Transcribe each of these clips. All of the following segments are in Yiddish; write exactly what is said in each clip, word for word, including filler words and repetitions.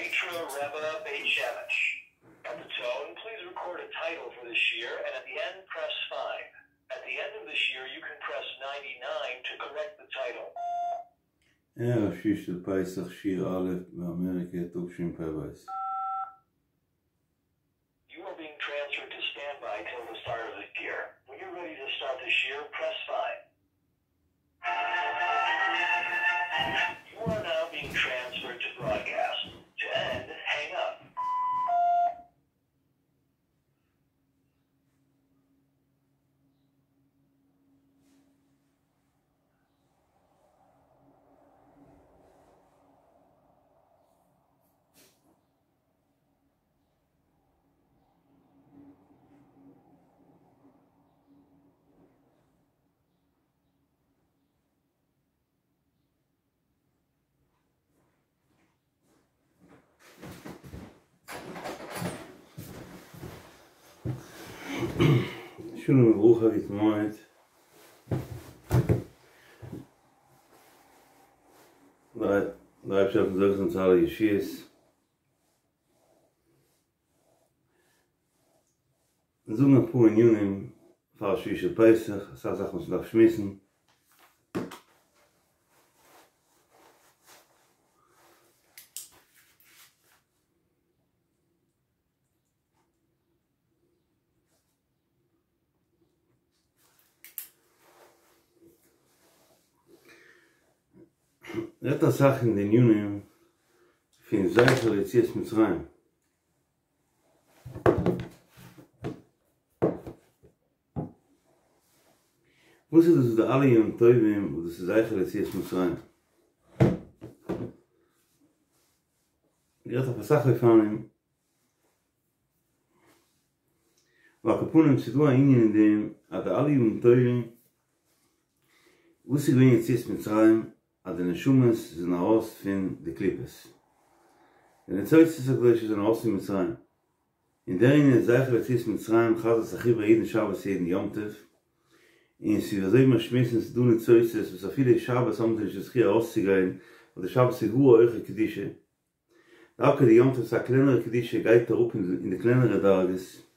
Mitra Rebbe Beit Shemesh. At the tone, please record a title for this year, and at the end, press five. At the end of this year, you can press ninety-nine to correct the title. ערב שביעי של פסח, שיר א' באמריקה, תשפ"ב. You are being transferred to standby till the start of the year. When you're ready to start this year, press five. You are now being transferred to broadcast. To end, hang up. שלום וברכה גוט מועד. דער אייבערשטער זאל זוכה זיין צו אלע ישועות. זאגן אפאר ענינים פאר שביעי של פסח, אסאך זאכן וואס מ'דארף שמועסן. רעדט אסאך אין די ענינים פון זכר ליציאת מצרים. וואס איז דאס די אלע יום טובים וואס דאס איז זכר ליציאת מצרים? גערעדט אויף אסאך אופנים. ועל כל פנים ס'איז דא א ענין אין דעם אז די אלע יום טובים וואס איז געווען יציאת מצרים אז די נשמות זענען ארויס פון די קליפות. די ניצוצות הקדושה זענען ארויס פון מצרים. און דער ענין איז זכר ליציאת מצרים חזר'ט זיך איבער יעדן שבת יעדן יום טוב. און ס'איז אזוי ווי מיר שמועסן ס'איז דא ניצוצות וואס אפילו שבת האבן זיי נישט די זכי' ארויסצוגיין ווייל די שבת איז גאר א הויכע קדושה. דווקא די יום טוב איז א קלענערע קדושה גייט אראפ אין די קלענערע דרגות.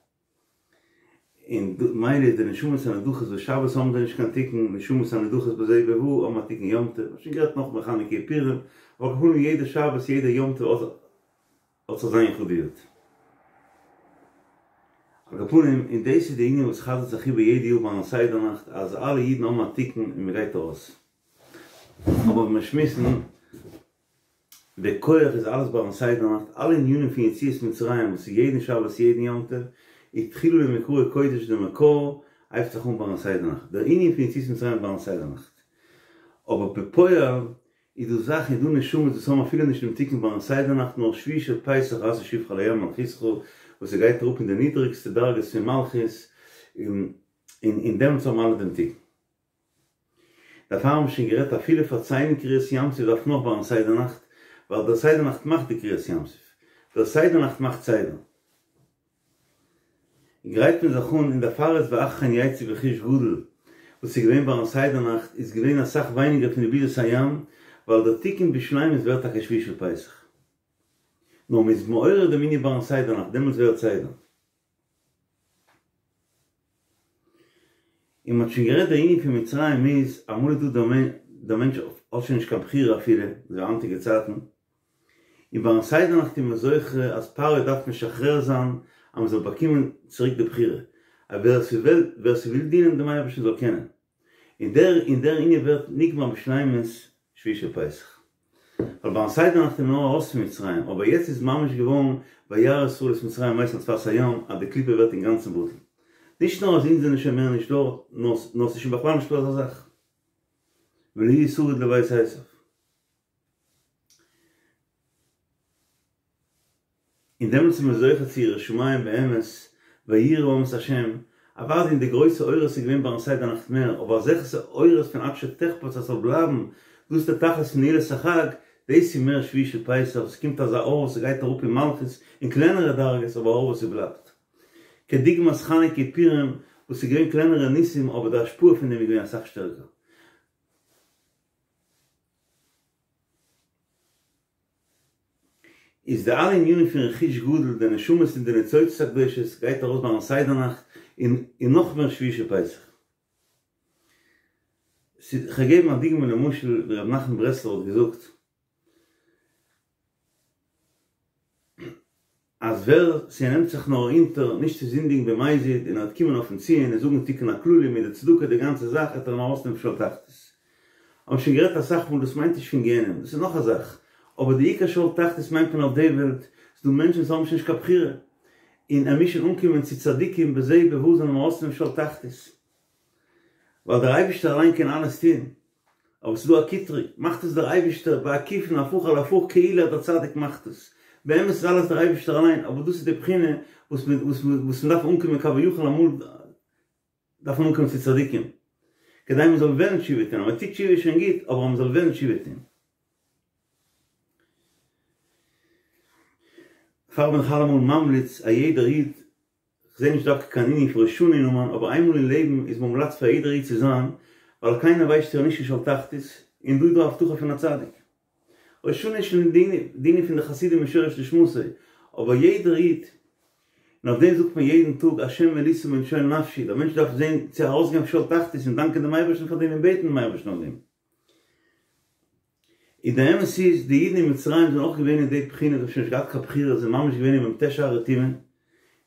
און מילא איז די נשמות הנדחות וואס שבת האבן זיי נישט קיין תיקון, נשמות הנדחות בזה ובבא האבן א תיקון יום טוב, מ'האט שוין גערעדט נאך בחנוכה פורים, אבער על כל פנים יעדע שבת יעדע יום טוב האט זיך זיין יחודיות. על כל פנים, און דאס איז די ענין וואס חזר'ט זיך איבער יעדע יאר ביים סדר נאכט אז אלע אידן האבן א תיקון און מ'גייט ארויס. אבער ווען מיר שמועסן, די כח איז אלעס ביים סדר נאכט, אלע ענינים פון יציאת מצרים וואס איז יעדן שבת יעדן יום טוב, איז תחילה למקראי קודש די מקור הייבט זיך אן ביים סדר נאכט, דער ענין פון יציאת מצרים איז ביים סדר נאכט, אבער בפועל איז דא זאכן איז דא נשמות וואס האבן אפילו נישט דעם תיקון ביים סדר נאכט נאר שביעי של פסח ראתה שפחה לים מלכותך וואס ס'גייט אראפ אין די נידריגסטע דרגות פון מלכות און און דעמאלטס האבן אלע דעם תיקון. דערפאר האבן מיר שוין גערעדט אפילו פארציילן קריעת ים סוף דארף נאך ביים סדר נאכט, ווייל דער סדר נאכט מאכט די קריעת ים סוף, דער סדר נאכט מאכט סדר. גרייט מען זיך אן און דערפאר איז ואחרי כן יצאו ברכוש גדול, וואס איז געווען ביים סדר נאכט איז געווען אסאך ווייניגער פון די ביזת הים, ווייל דער תיקון בשלימות ווערט טאקע שביעי של פסח. נאר מען איז מעורר דעם ענין ביים סדר נאכט, דעמאלטס ווערט סדר. און מ'האט שוין גערעדט דער ענין פון מצרים איז, אמאל איז דא דער מענטש האט שוין נישט קיין בחירה אפילו, אזוי היינטיגע צייטן, און ביים סדר נאכט איז מען זוכה אז פרעה דארף משחרר זיין אז מ'זאל באקומען צוריק די בחירה, אז ווער ס'וויל ווער ס'וויל דינען דעם אייבערשטן זאל קענען, און דער און דער ענין ווערט נגמר בשלימות שביעי של פסח. ווייל ביים סדר נאכט איז מען נאר ארויס פון מצרים, אבער יעצט איז ממש געווארן וירא ישראל את מצרים מתים על שפת הים אז די קליפה ווערט אינגאנצן בטל. נישט נאר אז אונז זענען שוין מער נישט דארט, נאר ס'איז שוין בכלל נישטא אזא זאך. ולא יהיה שריד לבית עשו. און דעמאלטס איז מען זוכה צו יראת שמים באמת, וייראו העם את השם, אוודאי אין די גרויסע אורות איז געווען ביים סדר נאכט מער, אבער אזעלכע אורות פון עד שתחפץ אז ס'זאל בלייבן, דאס איז די תכלית פון נעילת החג, דאס איז מער שביעי של פסח, ס'קומט אזא אור וואס ס'גייט אראפ אין מלכות, אין קלענערע דרגות, אבער א אור וואס ס'בלייבט. כדוגמת חנוכה פורים וואס איז געווען קלענערע ניסים אבער די השפעה פון דעם איז געווען אסאך שטערקער. איז די אלע ענינים פון רכוש גדול, די נשמות און די ניצוצות הקדושות גייט ארויס ביים סדר נאכט און און נאך מער שביעי של פסח. כ'וועל געבן א דוגמא למשל ווי ר' נחמן ברסלבער האט געזאגט אז ווער ס'נעמט זיך נאר אונטער נישט צו זינדיגן במזיד און ער וועט קומען אויפן ציון און זאגן תיקון הכללי מיט די צדקה די גאנצע זאך וועט ער אים ארויסנעמען פון שאול תחתית. האבן שוין גערעדט אסאך מאל דאס מיינט נישט פון גיהנום דאס איז נאך א זאך אבער די עיקר שאול תחתית מיינט מען אויף די וועלט ס'דא מענטשן וואס האבן שוין נישט קיין בחירה און ער מוז שוין אנקומען צו צדיקים בזה ובבא זאלן אים ארויסנעמען פון שאול תחתית ווייל דער אייבערשטער אליין קען אלעס טון אבער ס'איז דא א קטרוג, מאכט עס דער אייבערשטער בעקיפין הפוך על הפוך כאילו אז דער צדיק מאכט עס, באמת איז אלעס דער אייבערשטער אליין, אבער דאס איז די בחינה וואס מען וואס מען וואס מען דארף אנקומען כביכול אמאל דארף מען אנקומען צו צדיקים כדי מען זאל וועלן תשובה טון, אז מען טוט תשובה איז שוין גוט, אבער אז מען זאל וועלן תשובה טון. דערפאר בין איך אלעמאל ממליץ א יעדער איד כ'זעה נישט דווקא קיין ענין פון ראש השנה אין אומאן, אבער איינמאל אין לעבן איז מומלץ פאר יעדער איד צו זיין, ווייל קיינער ווייסט שוין נישט אין שאול תחתית, און דא איז דא א הבטחה פון א צדיק. ראש השנה איז שוין די ענין פון די חסידים משורש נשמתו, אבער יעדער איד, און אויף דעם זאגט מען יעדן טאג השם העלית ממשול נפשי, דער מענטש דארף זען צו ארויסגיין פון שאול תחתית און דאנקען דעם אייבערשטן פאר דעם און בעטן דעם אייבערשטן אויף דעם. און די אמת איז, די אידן אין מצרים זענען אויך געווען אין די בחינה, זיי האבן שוין נישט געהאט קיין בחירה, זיי זענען ממש געווען אין מ"ט שערי טומאה,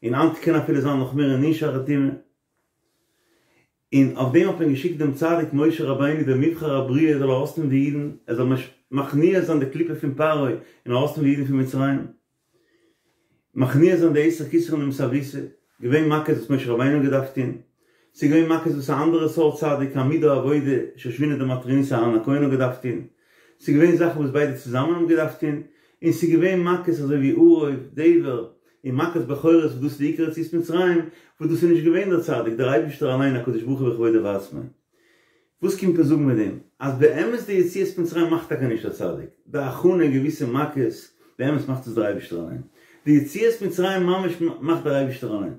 און היינט קען אפילו זיין נאך מער אין נ' שערי טומאה. און אויף דעם האט מען געשיקט דעם צדיק משה רבינו דער מבחר הבריאה זאל ארויסנעמען די אידן, ער זאל מכניע זיין די קליפה פון פרעה און ארויסנעמען די אידן פון מצרים. מכניע זיין די עשר כתרין דמסאבותא, געווען מכות וואס משה רבינו האט געדארפט טון, ס'איז געווען מכות וואס א אנדערע סארט צדיק עמוד העבודה שושבינא דמטרוניתא אהרן הכהן האט געדארפט טון, ס'איז געווען זאכן וואס ביידע צוזאמען האבן געדארפט טון, און ס'איז געווען מכות אזוי ווי ערוב, דבר, און מכת בכורות וואס דאס איז די עיקר יציאת מצרים, וואס דאס איז נישט געווען דער צדיק, דער אייבערשטער אליין הקדוש ברוך הוא בכבודו ובעצמו. וואס קומט מען זאגן מיט דעם? אז באמת די יציאת מצרים מאכט טאקע נישט דער צדיק, די הכנה, געוויסע מכות, באמת מאכט עס דער אייבערשטער אליין. די יציאת מצרים ממש מאכט דער אייבערשטער אליין.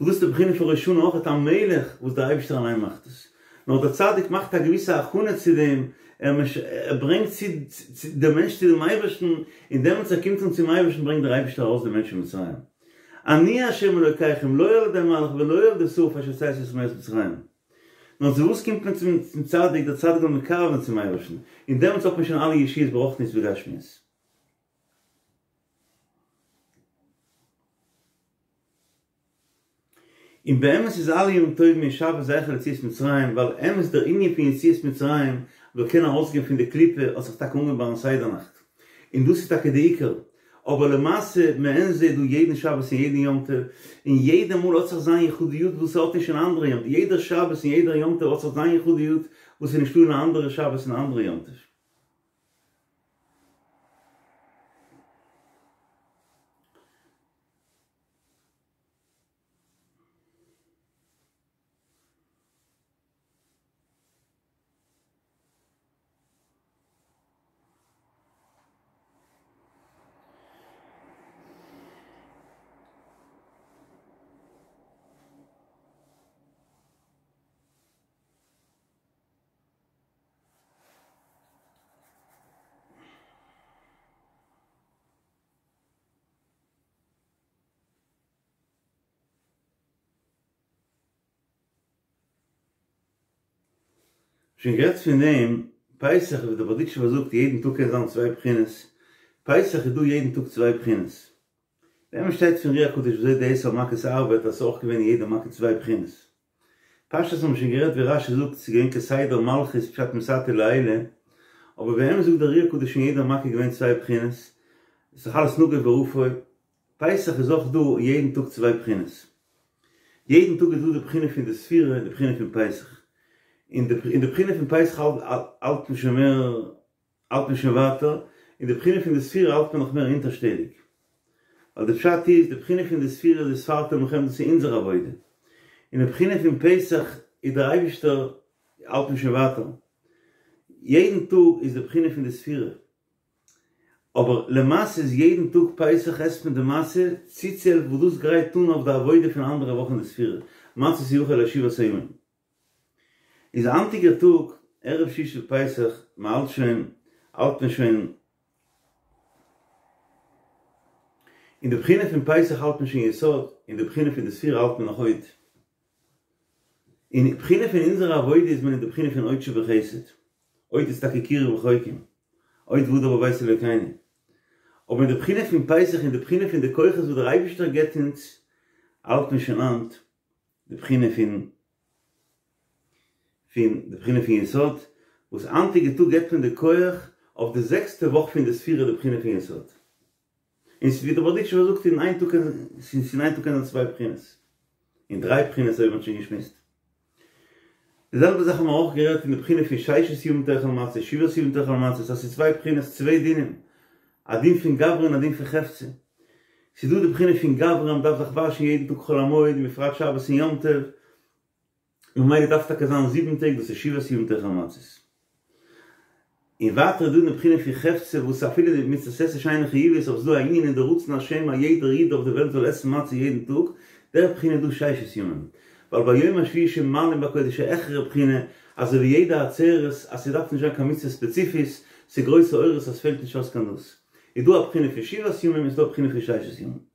וואס דאס איז די בחינה פון ראש השנה אויך המלך וואס דער אייבערשטער אליין מאכט עס. נאר דער צדיק מאכט א געוויסע הכנה צו דעם, ער ברענגט צו דעם מענטש צו דעם אייבערשטן, און דעמאלטס ער קומט אן צום אייבערשטן ברענגט דער אייבערשטער ארויס דעם מענטש פון מצרים. אני ה' אלוקיכם לא על ידי מלאך ולא על ידי שרף אשר הוצאתי אתכם מארץ מצרים. נאר צו וואס קומט מען צום צדיק, דער צדיק זאל מקרב זיין צום אייבערשטן, און דעמאלטס האט מען שוין אלע ישועות ברוחניות וגשמיות. און באמת איז אלע ימים טובים און שבת זכר ליציאת מצרים, ווייל אמת דער ענין פון יציאת מצרים מ'זאל קענען ארויסגיין פון די קליפה האט זיך טאקע אנגעהויבן ביים סדר נאכט, און דאס איז טאקע די עיקר, אבער למעשה מעין זה איז דא יעדן שבת און יעדן יום טוב, און יעדע מאל האט זיך זיין יחודיות וואס ס'האט נישט אין אנדערע יום טוב, יעדער שבת און יעדער יום טוב האט זיך זיין יחודיות וואס איז נישטא אין א אנדערע שבת און א אנדערע יום טוב. שוין גערעדט פון דעם, פסח ווי דער בארדיטשובער זאגט יעדן טאג קען זיין צוויי בחינות, פסח איז דא יעדן טאג צוויי בחינות, באמת שטייט פון אר"י הקדוש וויאזוי די עשר מכות ארבעט אז ס'איז אויך געווען אין יעדע מכה צוויי בחינות. פשטות האבן מיר שוין גערעדט ווי רש"י זאגט ס'איז געווען כסדר מלכות פשט מתתא לעילא, אבער באמת זאגט דער אר"י הקדוש אין יעדע מכה איז געווען צוויי בחינות, ס'איז דאך אלעס נגוף ורפוי, פסח איז אויך דא יעדן טאג צוויי בחינות. יעדן טאג איז דא די בחינה פון די ספירה און די בחינה פון פסח. און די בחינה פון פסח האלט מען שוין מער, האלט מען שוין ווייטער, און די בחינה פון די ספירה האלט מען נאך מער אונטערשטעליג. ווייל די פשט איז, די בחינה פון די ספירה איז וספרתם לכם דאס איז אונזער עבודה. און די בחינה פון פסח איז דער אייבישטער, האלט מען שוין ווייטער. יעדן טאג איז די בחינה פון די ספירה. אבער למעשה איז יעדן טאג פסח עסט מען די מצה צוצוהעלפן וואס דאס גרייט אן אויף די עבודה פון אנדערע וואך אין די ספירה, מצות יאכל לשבעת הימים. איז היינטיגער טאג ערב שביעי של פסח, מען האלט שוין, האלט מען שוין אין די בחינה פון פסח האלט מען שוין יסוד, אין די בחינה פון די ספירה האלט מען נאך הוד. אין די בחינה פון אונזער עבודה איז מען אין די בחינה פון הוד שבחסד. הוד איז טאקע קירוב רחוקים, הוד והדר בבית אלוקינו. אבער אין די בחינה פון פסח, אין די בחינה פון די כוחות וואס דער אייבערשטער געבט אונז, האלט מען שוין היינט די בחינה פון פון די בחינה פון יסוד, וואס היינטיגע טאג געבט מען די כח אויף די זעקסטע וואך פון די ספירה די בחינה פון יסוד. און ווי דער בארדיטשובער זאגט אין איין טאג קען אין איין טאג קען זיין צוויי בחינות, און דריי בחינות אזוי ווי מ'האט שוין געשמועסט. די זעלבע זאך האבן מיר אויך גערעדט אין די בחינה פון ששת ימים תאכל מצות, שבעת ימים תאכל מצות, אז ס'איז צוויי בחינות, צוויי דינים, א דין פון גברא און א דין פון חפצא. ס'איז דא די בחינה פון גברא אז מ'דארף זיך וואשן יעדן טאג חול המועד, ובפרט שבת און יום טוב, און ממילא דארף טאקע זיין זיבן טעג, דאס איז שבעת ימים תאכל מצות. און ווייטער איז דא די בחינה פון חפצא וואס אפילו די מצות עשה שאינה חיובית אבער ס'איז דא א ענין אין די רצון השם אז יעדער איד אויף די וועלט זאל עסן מצה יעדן טאג, דער בחינה איז דא ששת ימים, ווייל ביום השביעי שמעלין בקודש א העכערע בחינה, אזוי ווי יעדע עצרת אז ס'דארף נישט זיין קיין מצוה ספעציפיש, ס'גרויסע אורות אז ס'פעלט נישט אויס קיין דאס. איז דא א בחינה פון שבעת ימים און ס'איז דא א בחינה פון ששת ימים.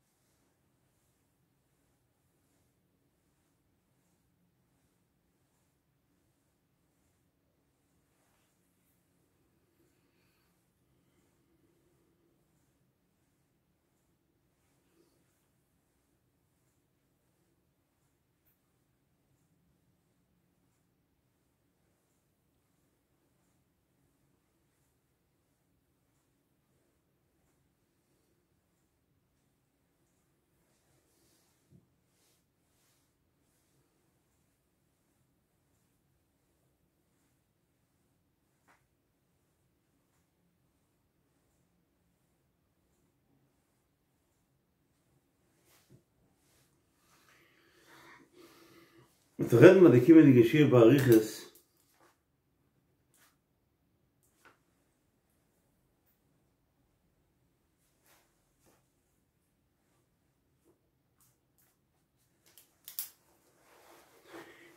מ'וועט רעדן ביי די קומענדיגע שיעור באריכות.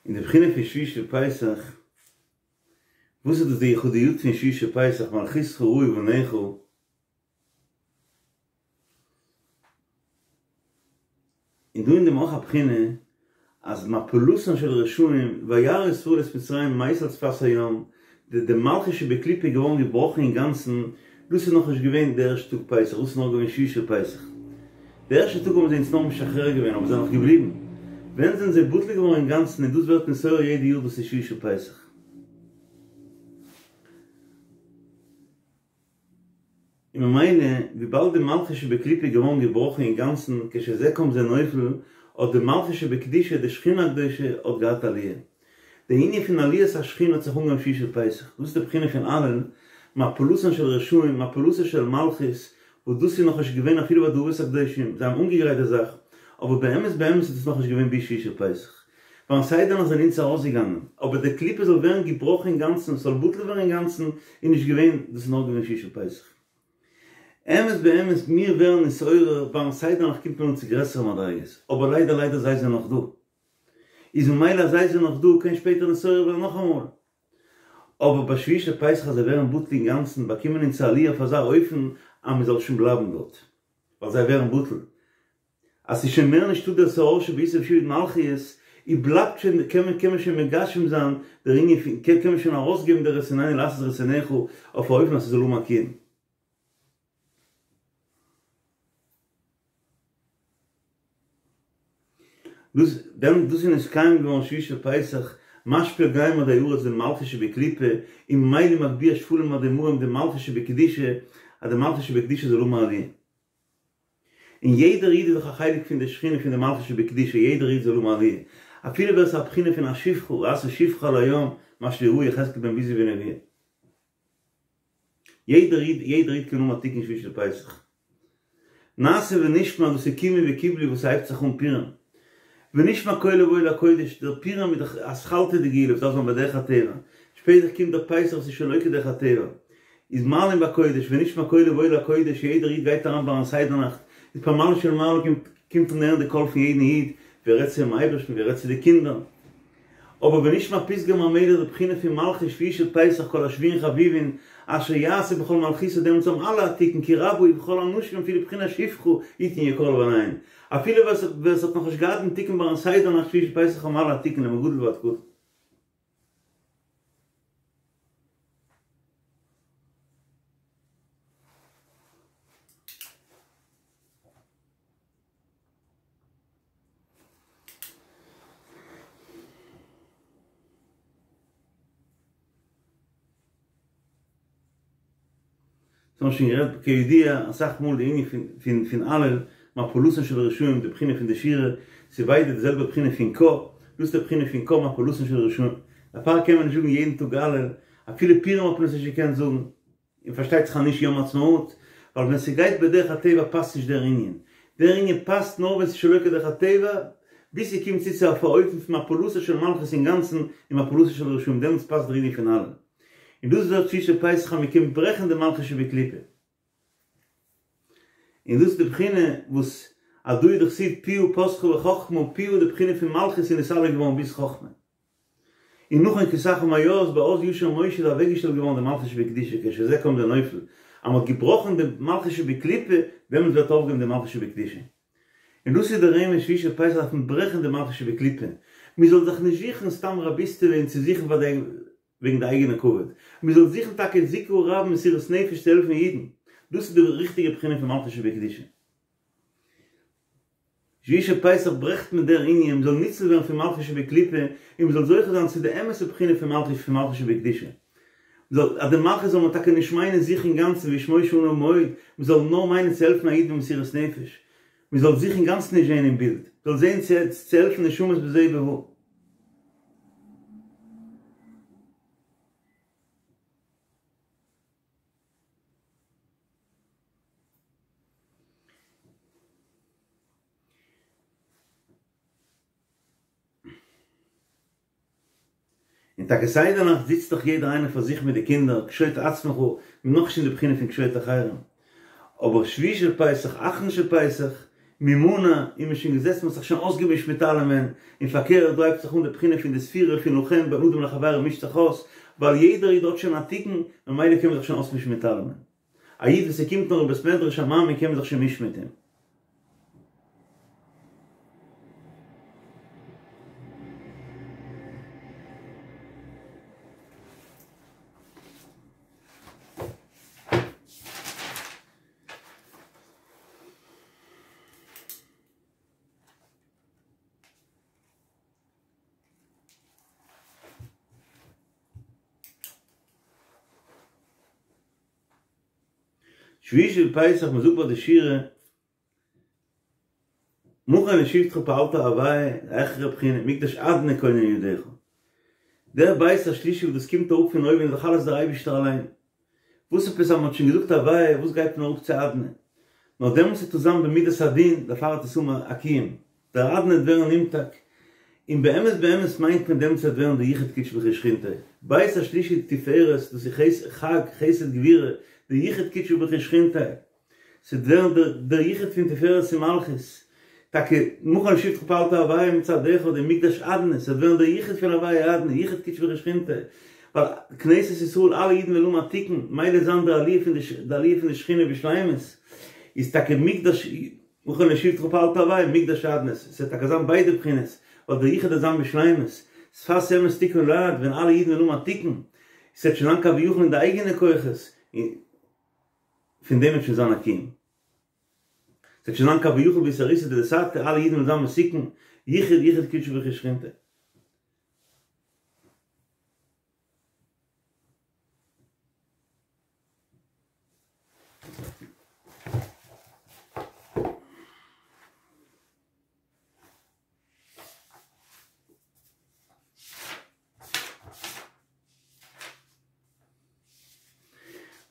אין די בחינה פון שביעי של פסח, וואס איז דאס די יחודיות פון שביעי של פסח, מלכותך ראו בניך, און דא אין דעם אויך א בחינה אז מפלתן של רשעים וירא ישראל את מצרים מת על שפת הים, די די מלכות שבקליפה איז געווארן געבראכן אינגאנצן, דאס איז נאכנישט געווען די ערשטע טאג פסח, דאס איז נאר געווען שביעי של פסח. די ערשטע טאג האבן זיי אונז נאר משחרר געווען אבער זיי זענען נאך געבליבן. ווען זענען זיי בטל געווארן אינגאנצן און דאס ווערט נתעורר יעדע יאר דאס איז שביעי של פסח. און ממילא וויבאלד די מלכות שבקליפה איז געווארן געבראכן אינגאנצן כשזה קם זה נופל, האט די מלכות שבקדושה, די שכינה הקדושה, האט געהאט עליה. די ענין פון עליית השכינה האט זיך אנגעהויבן שביעי של פסח, דאס איז די בחינה פון הלל, מפלתן של רשעים, מפלתה של מלכות, וואס דאס איז נאכנישט געווען אפילו ביי די אבות הקדושים, זיי האבן אנגעגרייט די זאך, אבער באמת באמת איז דאס נאכנישט געווען ביז שביעי של פסח. ביים סדר נאכט זענען אונז ארויסגעגאנגען, אבער די קליפה זאל ווערן געבראכן אינגאנצן, ס'זאל בטל ווערן אינגאנצן, איז נישט געווען, דאס איז נאר געווען שביעי של פסח. אמת באמת, מיר ווערן נתעורר, ביים סדר נאכט קומט מען אן צו גרעסערע מדריגות, אבער ליידער ליידער זיי זענען נאך דא. איז ממילא אז זיי זענען נאך דא קען שפעטער נתעורר ווערן נאכאמאל. אבער ביי שביעי של פסח אז זיי ווערן בטל אינגאנצן באקומען אונז א עליה אויף אזא אופן אז מען זאל שוין בלייבן דארט, ווייל זיי ווערן בטל. אז ס'איז שוין מער נישטא דער שאור שבעיסה ושעבוד מלכיות, איז בלייבט שוין, קען מען קען מען שוין מגשם זיין דער ענין פון, קען מען שוין ארויסגעבן דער רצוננו לעשות רצונך אויף א אופן אז ס'זאל האבן א קיום. דאס דעם דאס איז נתקיים געווארן שביעי של פסח, משפיל גאים עדי ארץ די מלכות שבקליפה, און ממילא מגביה שפלים עדי מרום די מלכות שבקדושה, אז די מלכות שבקדושה זאל האבן א עליה. און יעדער איד איז דאך א חלק פון די שכינה פון די מלכות שבקדושה, יעדער איד זאל האבן א עליה, אפילו ווער ס'איז א בחינה פון א שפחה, ראתה שפחה על הים, מה שראה יחזקאל בן בוזי בנבואה. יעדער איד, יעדער איד קען האבן א תיקון שביעי של פסח. נעשה ונשמע דאס איז קימו וקיבלו וואס הייבט זיך אן פורים. ונשמע קולו באוהל הקודש, דער פורים איז דאך אתחלתא דגאולה וואס דארף זיין בדרך הטבע, שפעטער קומט דער פסח וואס איז שלא כדרך הטבע, איז מעלין בקודש ונשמע קולו באוהל הקודש יעדער איד גייט אריין ביים סדר נאכט, איז פמליא של מעלה קומט אן הערן די קול פון יעדן איד, ווי ער רעדט צום אייבערשטן, ווי ער רעדט צו די קינדער. אבער ונשמע פתגם המלך די בחינה פון מלכות שביעי של פסח כל השבויין חביבין אשר יעשה בכל מלכותו דעמאלטס האבן אלע א תיקון כי רבה הוא בכל האנשים אפילו בחינת שפחה יתן יקר לב אפילו ווער עס האט נאכנישט געהאט דעם תיקון ביים סדר נאכט שביעי של פסח האבן אלע א תיקון מגדול ועד קטן. אונז האבן שוין גערעדט כידוע אסאך מאל די ענין פון פון הלל מפלתן של רשעים די בחינה פון די שירה ס'איז ביידע די זעלבע בחינה פון קה דאס איז די בחינה פון קה מפלתן של רשעים דערפאר קען מען נישט זאגן יעדן טאג הלל אפילו פורים האט מען עס נישט געקענט זאגן. און פארשטייט זיך אז נישט יום העצמאות, ווייל ווען ס'גייט בדרך הטבע פאסט נישט דער ענין, דער ענין פאסט נאר ווען ס'איז שלא כדרך הטבע, ביז ס'קומט צו צו א אופן פון מפלתה של מלכות אינגאנצן און מפלתה של רשעים, דעמאלטס פאסט דער ענין פון הלל. און דאס ווערט שביעי של פסח אז מ'קומט ברעכן די מלכות שבקליפה. און דאס איז די בחינה וואס הדא הוא דכתיב פיה פתחה בחכמה, פיה די בחינה פון מלכות איז נתעלה געווארן ביז חכמה. און נאכן כסאך ומאוס באז ישיר משה איז אוועקגעשטעלט געווארן די מלכות שבקדושה כשזה קומט די נופל אז מ'האט געבראכן די מלכות שבקליפה דעמאלטס ווערט אויפגעהויבן די מלכות שבקדושה און דאס איז די רמז שביעי של פסח דארף מען ברעכן די מלכות שבקליפה מ'זאל זיך נישט זוכן סתם רביסטעווע און צו זוכן פאר די וועגן די אייגענע כבוד מ'זאל זוכן טאקע זיכוי רבים מסירות נפש צו העלפן אידן דאס איז די ריכטיגע בחינה פון מלכות שבקדושה. שביעי של פסח ברעכט מען דער ענין מ'זאל ניצול ווערן פון מלכות שבקליפה און מ'זאל זוכה זיין צו די אמת'ע בחינה פון מלכות פון מלכות שבקדושה. מ'זאל אז די מלכות זאל מען טאקע נישט מיינען זיך אינגאנצן והאיש משה עניו מאוד, מ'זאל נאר מיינען צו העלפן א איד במסירות נפש. מ'זאל זיך אינגאנצן נישט זען אין בילד. מ'זאל זען צו העלפן נשמות בזה ובבא. און טאקע סדר נאכט זיצט דאך יעדער איינער פאר זיך מיט די קינדער, קשוט עצמך, מ'איז נאכנישט אין די בחינה פון קשוט אחרים. אבער שביעי של פסח, אחרון של פסח, ממנא, איז מען שוין געזעצן, מ'האט זיך שוין אויסגעמישט מיט אלעמען, און פארקערט, דא הייבט זיך אן די בחינה פון די ספירה פון לכם בין אדם לחבירו מישט זיך אויס, ווייל יעדער איד האט שוין א תיקון, ממילא קען מען זיך שוין אויסמישן מיט אלעמען. א איד וואס ער קומט נאר אין בית מדרש א מאמין קען מען זיך שוין מישן מיט אים. שביעי של פסח מען זאגט ביי די שירה מכון לשבתך פעלת הוי' העכערע בחינה מקדש אדני כוננו ידיך דער בית השלישי וואס דאס קומט אראפ פון אויבן איז דאך אלעס דער אייבישטער אליין וואס עפעס אז מען האט שוין געזאגט הוי' וואס גייט מען אראפ צו אדני נאר דעמאלטס וועט עס זיין במידת הדין דערפאר וועט עס האבן א קיום דער אדני וועט ווערן נמתק, און באמת באמת מיינט מען דעמאלטס וועט ווערן די יחוד קודשא בריך הוא ושכינתיה, בית השלישי תפארת, דאס איז חג חסד גבורה, די יחוד קודשא בריך הוא ושכינתיה, ס'וועט ווערן דער יחוד פון תפארת און מלכות, טאקע מכון לשבתך פעלת הוי' מצד אחד און מקדש אדני, ס'וועט ווערן דער יחוד פון הוי' אדני, יחוד קודשא בריך הוא ושכינתיה, ווייל כנסת ישראל אלע אידן וועלן האבן א תיקון, מילא וועט זיין די עליה פון די עליה פון די שכינה בשלימות, איז טאקע מקדש. מכון לשבתך פעלת הוי' מקדש אדני, ס'וועט טאקע זיין ביידע בחינות, ווייל דער יחוד וועט זיין בשלימות, שפת אמת תכון לעד, ווען אלע אידן וועלן האבן א תיקון, ס'וועט שוין זיין כביכול אין די אייגענע כוחות, און פון דעם וועט שוין זיין א קיום. ס'וועט שוין זיין כביכול באתערותא דלתתא, אלע אידן וועלן זיין מתוקן, יחוד יחוד קודשא בריך הוא ושכינתיה.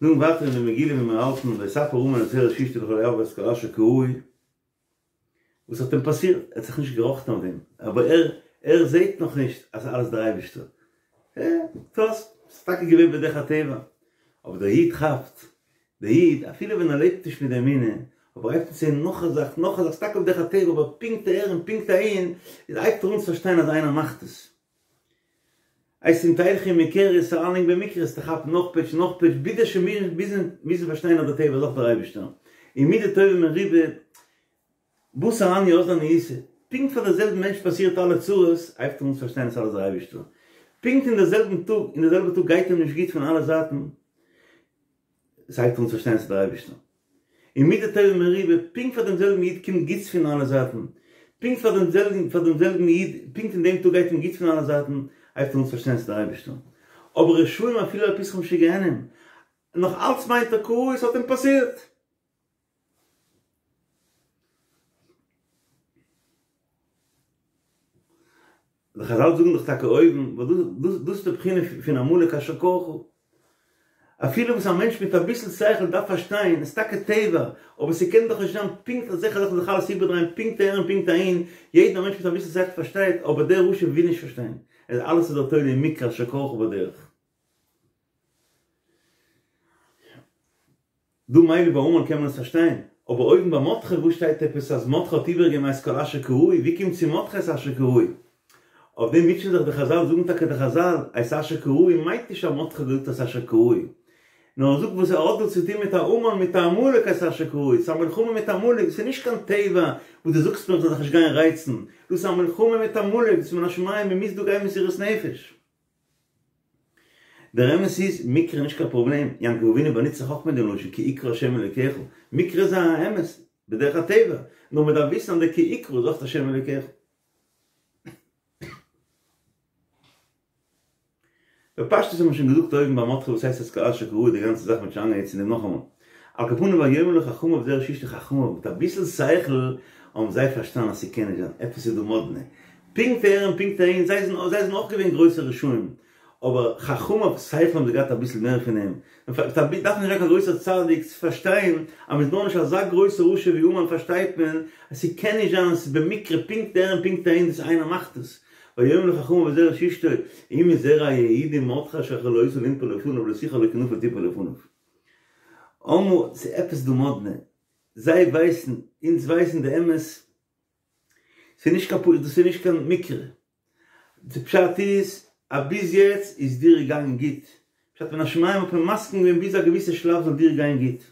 נו ווייטער אין די מגילה ווי מיר האלטן ויספר המן את זרש אשתו לכל היער ואת כל אשר קרהו וואס האט אים פאסירט? ער האט זיך נישט געראכטן אויף דעם, אבער ער ער זעהט נאך נישט אז אלעס דער אייבערשטער, אה, דאס איז טאקע געווען בדרך הטבע, אבער דער איד כאפט, דער איד אפילו ווען ער לעבט נישט מיט די אמונה, אבער הייבט אן צו זעהן נאך א זאך, נאך א זאך, ס'איז טאקע בדרך הטבע, אבער פונקט אהער און פונקט אהין, איז הייבט ער אן צו פארשטיין אז איינער מאכט עס. הייסט אם תלכי מקרה איז אריינלייגן במקרה איז כאפן נאך פעטש נאך פעטש ביז שוין ביזן ביזן פארשטיין אז דער טבע איז אויך דער אייבערשטער און מידה טובה מרובה בתר עניא אזלא עניותא פונקט פאר דער זעלבן מענטש פאסירט אלע צרות הייבט אן צו פארשטיין אז אלעס דער אייבערשטער פונקט אין דער זעלבן טאג אין דער זעלבע טאג גייט אים נישט גוט פון אלע זייטן עס הייבט אן צו פארשטיין אז דער אייבערשטער און מידה טובה מרובה פונקט פאר דעם זעלבן איד קומט גוטס פון אלע זייטן פונקט פאר דעם זעלבן פאר דעם זעלבן איד פונקט אין דעם טאג גייט אים גוט פון אלע זייטן הייבט אן צו פארשטיין אז דער אייבערשטער אבער רשעים אפילו על פתחם של גיהנם נאך אלץ מיינט ער קראי עס האט אים פאסירט די חזל זאגן דאך טאקע אויבן, ווייל דאס דאס איז די בחינה פון עמלק אשר קרך. אפילו וואס א מענטש מיט אביסל שכל דארף פארשטיין, עס איז טאקע טבע, אבער ס'קען דאך נישט זיין פונקט אזעלכע זאכן זיך אלעס איבערדרייען פונקט אהער און פונקט אהין, יעדער מענטש מיט אביסל שכל פארשטייט, אבער דער רשע וויל נישט פארשטיין, עס אלעס איז דער תולה אין מקרה אשר קרך בדרך. דא מילא ביי המן קען מען עס פארשטיין, אבער אויבן ביי מרדכי וואו שטייט עפעס אז מרדכי האט איבערגעגעבן את כל אשר קראוהו, ווי קומט צו מרדכי את אשר קראוהו? אויף דעם מוטשען זיך די חזל, זאגן טאקע די חזל, את אשר קראוהו מיינט נישט אז מרדכי האט געזאגט את אשר קראוהו, נאר ער זאגט וואס ער האט דא צו טון מיט א המן מיט א עמלק את אשר קראוהו, ס'איז א מלחמה מיט עמלק, ס'איז נישט קיין טבע וואס דו זאגסט מיר איך זאל זיך נישט גיין רייצן, דאס איז א מלחמה מיט עמלק, דאס איז מן השמים, מען מוז דא גיין מסירות נפש. דער אמת איז, מקרה איז נישט קיין פראבלעם, יעקב אבינו באנוצט זיך אויך מיט דעם לשון כי יקרא השם אלוקיך, מקרה איז א אמת, בדרך הטבע, נאר מען דארף וויסן אז דער כי יקרא איז אויך השם אלוקיך. בפשטות האט מען שוין געזאגט אויבן ביי מרדכי וואס הייסט את כל אשר קראוהו די גאנצע זאך מיט שוין איינגעהעצט אין דעם נאכאמאל. על כל פנים ויאמרו לו חכמיו זרש אשתו חכמיו מיט אביסל שכל האבן זיי פארשטאנען אז ס'קען נישט זיין, עפעס איז דא מאדנע. פונקט אהער און פונקט אהין, זיי זענען זיי זענען אויך געווען גרויסע רשעים, אבער חכמיו שכל האבן זיי געהאט אביסל מער פון אים, מ'דארף נישט זיין קיין גרויסער צדיק צו פארשטיין אז מ'איז נאר נישט אזא גרויסער רשע ווי המן פארשטייט מען אז ס'קען נישט זיין אז ס'איז במקרה פונקט אהער און פונקט אהין דאס איינער מאכט עס, ויאמרו לו חכמיו וזרש אשתו, אם מזרע היהודים מרדכי אשר החלותו לנפול לפניו לא תוכל לו כי נפול תפול לפניו. אמרו, ס'איז עפעס דא מאדנע, זיי ווייסן, אונז ווייסן די אמת, ס'איז נישט קיין פ דאס איז נישט קיין מקרה, די פשט איז אז ביז יעצט איז דיר געגאנגען גוט, פשט מן השמים האט מען מסכים געווען ביז א געוויסע שלב זאל דיר גיין גוט,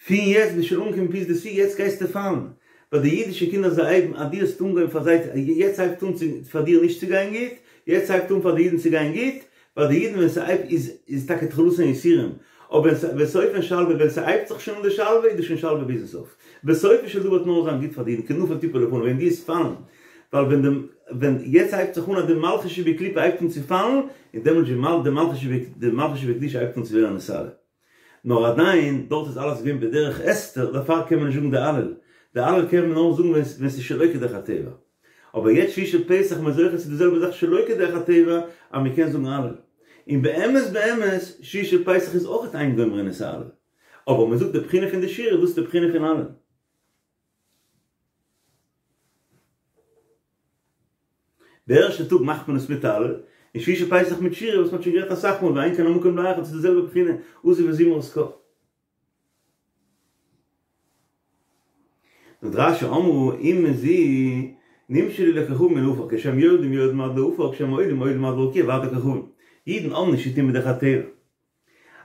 פון יעצט ביסט שוין אנגעקומען ביז די שיא יעצט גייסטו פאלן, ווייל די אידישע קינדער זיי הייבן אז דו האסט אנגעהויבן פאר זיי יעצט הייבט אן צו פאר דיר נישט צו גיין גוט, יעצט הייבט אן פאר די אידן צו גיין גוט, ווייל די אידן ווען ס'הייבט איז איז טאקע תחלתן יסורים, אבער ווען סופן שלווה ווען ס'הייבט זיך שוין אן די שלווה איז דאס שוין שלווה ביזן סוף, בסופו של דבר וועט נאר זיין גוט פאר די אידן כי נפול תפול לפניו ווען דו וועסט פאלן, ווייל ווען די ווען יעצט הייבט זיך אן אז די מלכות שבקליפה הייבט אן צו פאלן, און דעמאלטס די מלכות די מלכות שבקדושה הייבט אן צו ווערן נתעלה. נאר עדיין, דארט איז אלעס געווען בדרך הסתר, דערפאר קען מען נישט זאגן די הלל. די הלל קען מען נאר זאגן ווען ס'איז שלא כדרך הטבע. אבער יעצט שביעי של פסח איז מען זוכה צו די זעלבע זאך שלא כדרך הטבע, אז מען קען זאגן הלל. און באמת באמת, שביעי של פסח איז אויך אין גומרין את ההלל. אבער מען זאגט די בחינה פון די שירה, דאס איז די בחינה פון הלל. די ערשטע טאג מאכט מען עס מיט הלל, און שביעי של פסח מיט שירה וואס מען האט שוין גערעדט אסאך מאל ואין כאן המקום להרחיב ס'איז די זעלבע בחינה עזוב וזמרת קה. זאגט רש"י אמרו אומה זו נמשלו לכוכבים לעפר כשהם יורדים יורדים עד לעפר כשהם עולים עולים עד לרקיע ועד לכוכבים אידן האבן נישט צוטון מיט דרך הטבע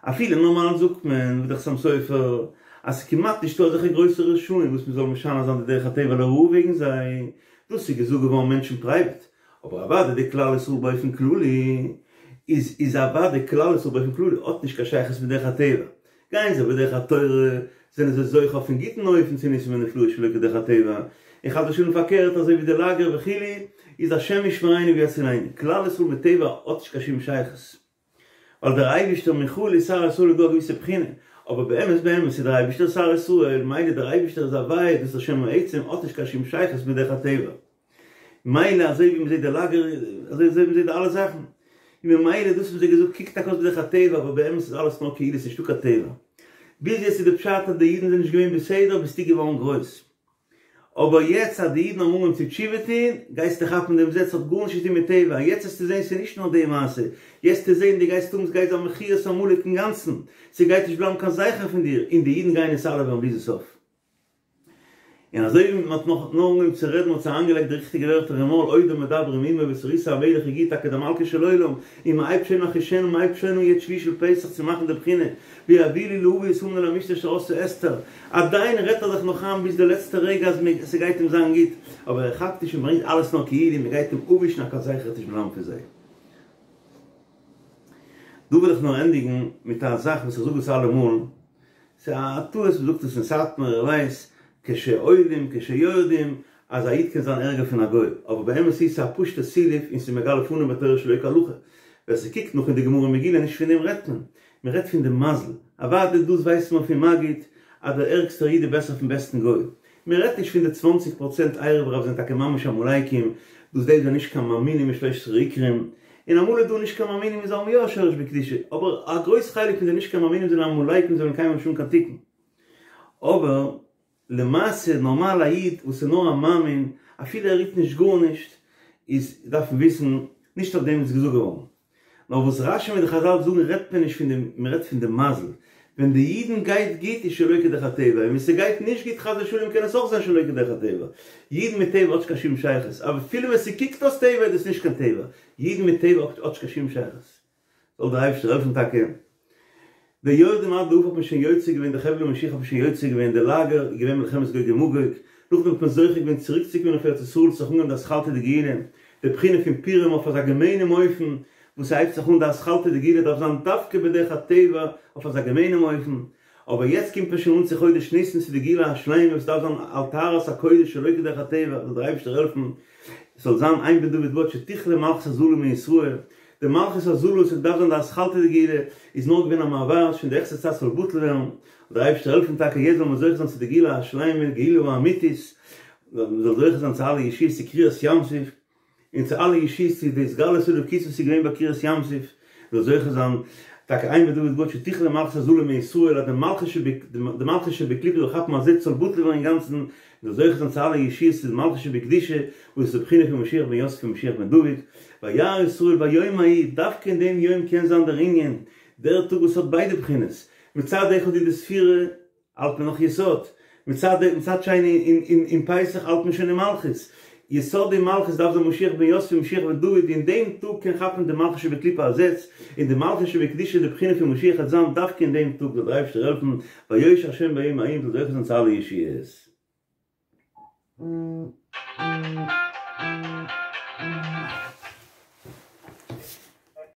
אפילו נארמאל זאגט מען ווי דער חתם סופר אז ס'איז כמעט נישטא אזעלכע גרויסע רשעים וואס מ'זאל משנה זיין די דרך הטבע לרעה וועגן זיי, דאס איז געזאגט געווארן מענטשן פרייוועט, אבער אוודאי די כלל ישראל באופן כללי איז איז אוודאי כלל ישראל באופן כללי האט נישט קיין שייכות מיט דרך הטבע, גייען זיי בדרך התורה זענען זיי זוכה אויפן גוטן אופן צו ניסים ונפלאות שלא כדרך הטבע, און חס ושלום פארקערט אזוי ווי די לאגער וכו' איז השם ישמרינו ויצילנו, כלל ישראל מיט טבע האט נישט קיין שום שייכות. ווייל דער אייבישטער מיכאל איז שר ישראל איז דא א געוויסע בחינה, אבער באמת באמת איז דער אייבישטער שר ישראל, מילא דער אייבישטער איז הוויה, דאס איז השם העצם, האט נישט קיין שום שייכות מיט דרך הטבע. מילא אזוי ווי מ'זעט די לאגער, אזוי ווי מ'זעט די אלע זאכן. און ממילא דאס וואס זיי געזאגט קוקט טאקע אויס בדרך הטבע, אבער באמת איז אלעס נאר כאילו ס'נישטא קיין טבע. ביז יעצט איז די פשט אז די אידן זענען נישט געווען בסדר ביסטו געווארן גרויס. אבער יעצט אז די אידן האבן אנגעהויבן צו תשובה טוהן, גייסטו כאפן דעם זעץ האט גארנישט צו טוהן מיט טבע, יעצט וועסטו זעהן ס'איז נישט נאר די מעשה, יעצט וועסטו זעהן דו גייסט האבן ס'גייט זיין מחיית עמלק אינגאנצן, ס'גייט נישט בלייבן קיין זכר פון דיר, און די אידן גייען נתעלה ווערן ביזן סוף. און אזוי ווי מען האט נאך נאר אנגעהויבן צו רעדן האט זיך אריינגעלייגט די ריכטיגע ווערטער אין מויל עודם מדברים עמו בתורית המלך הגיע טאקע דער מלכו של עולם און מען הייבט שוין אחישנה מען הייבט שוין אן יעצט שביעי של פסח צו מאכן די בחינה ויביאו לי לאבי את המן אל המשתה אשר עשתה אסתר עדיין רעדט ער זיך נאך איין ביז די לעצטע רגע אז ס'גייט אים זיין גוט אבער ער כאפט נישט און ברענגט אלעס נאר כאילו מען גייט אים אפווישן א קיין זכר וועט נישט בלייבן פון זיי. דא וויל איך נאר ענדיגן מיט א זאך וואס איך זאג עס אלעמאל, ס'איז א טעות מ'זאגט עס אין סאטמאר, איך ווייס, כשעולים כשיורדים, אז א איד קען זיין ערגער פון א גוי, אבער באמת איז ס'איז א פשוטע סילוף און ס'איז מגלה פנים בתורה שלא כהלכה, ווער ס'קוקט נאך אין די גמרא מגילה נישט פון דעם רעדט מען, מ'רעדט פון די מזל, אוודאי דאס ווייסט מען פון מגיד אז דער ערגסטער איד איז בעסער פון בעסטן גוי, מ'רעדט נישט פון די צוואנציג פראצענט ערב רב זענען טאקע ממש עמלקים, דאס די זענען נישט קיין מאמינים אין שלש עשרה עיקרים, און אמאל איז דא נישט קיין מאמינים און זיי האבן יא א שורש בקדושה, אבער א גרויס חלק פון די נישט קיין מאמינים זענען עמלקים זיי וועלן קיינמאל נישט האבן קיין תיקון. אבער למעשה נארמאל א איד וואס איז נאר א מאמין אפילו ער רירט נישט גארנישט איז דארף מען וויסן נישט אויף דעם איז געזאגט געווארן. נאר וואס רשי מיט די חזל זאגן רעדט מען נישט פון די מען רעדט פון די מזל, ווען די אידן גייט גוט איז שלא כדרך הטבע, און ווען ס'גייט נישט גוט חס ושלום קען עס אויך זיין שלא כדרך הטבע, אידן מיט טבע האט נישט קיין שום שייכות, אפילו ווען ס'קוקט אויס טבע איז דאס נישט קיין טבע, אידן מיט טבע האט נישט קיין שום שייכות. זאל דער אייבערשטער העלפן טאקע. די יורדים עד לעפר האט מען שוין יוצא געווען, די חבלי משיח האט מען שוין יוצא געווען, די לאגער איז געווען מלחמת גוג ומגוג, נאכדעם האט מען זוכה געווען צוריקצוקומען אויף ארץ ישראל, ס'האט זיך אנגעהויבן די אתחלתא דגאולה, די בחינה פון פורים אויף אזא געמיינעם אופן, וואס ס'הייבט זיך אן די אתחלתא דגאולה דארף זיין דווקא בדרך הטבע אויף אזא געמיינעם אופן, אבער יעצט קומט מען שוין אן צו חודש ניסן צו די גאולה השלימה וואס דארף זיין על טהרת הקודש שלא כדרך הטבע, זאל דער אייבערשטער העלפן עס זאל זיין אין בן דוד בא עד שתכלה מלכות הזלה מישראל, די מלכות הזלה וואס עס דארף זיין די אתחלתא דגאולה איז נאר געווען א מעבר שוין די העכסטע צייט ס'זאל בטל ווערן, זאל דער אייבערשטער העלפן טאקע יעצט זאל מען זוכה זיין צו די גאולה השלימה גאולה האמיתית, מען זאל זוכה זיין צו אלע ישועות צו קריעת ים סוף, און צו אלע ישועות צו די התגלות אלוקות וואס איז געווען ביי קריעת ים סוף, מען זאל זוכה זיין טאקע אין בן דוד בא עד שתכלה מלכות הזלה מישראל אז די מלכות די מלכות שבקליפה זאל כאפן א זעץ זאל בטל ווערן אינגאנצן, מען זאל זוכה זיין צו אלע ישועות צו די מלכות שבקדושה וואס איז די בחינה פון משיח בן יוסף און משיח בן דוד, וירא ישראל ביום ההוא, דווקא אין דעם יום קען זיין דער ענין, דער טאג וואס האט ביידע בחינות, מצד אחד איז די ספירה, האלט מען נאך יסוד, מצד מצד שני אין פסח האלט מען שוין אין מלכות, יסוד און מלכות דארף זיין משיח בן יוסף און משיח בן דוד, אין דעם טאג קען כאפן די מלכות שבקליפה א זעץ, און די מלכות שבקדושה די בחינה פון משיח וועט זיין דווקא אין דעם טאג, זאל דער אייבערשטער העלפן, ויושע השם ביום ההוא מ'זאל זוכה זיין צו אלע ישועות.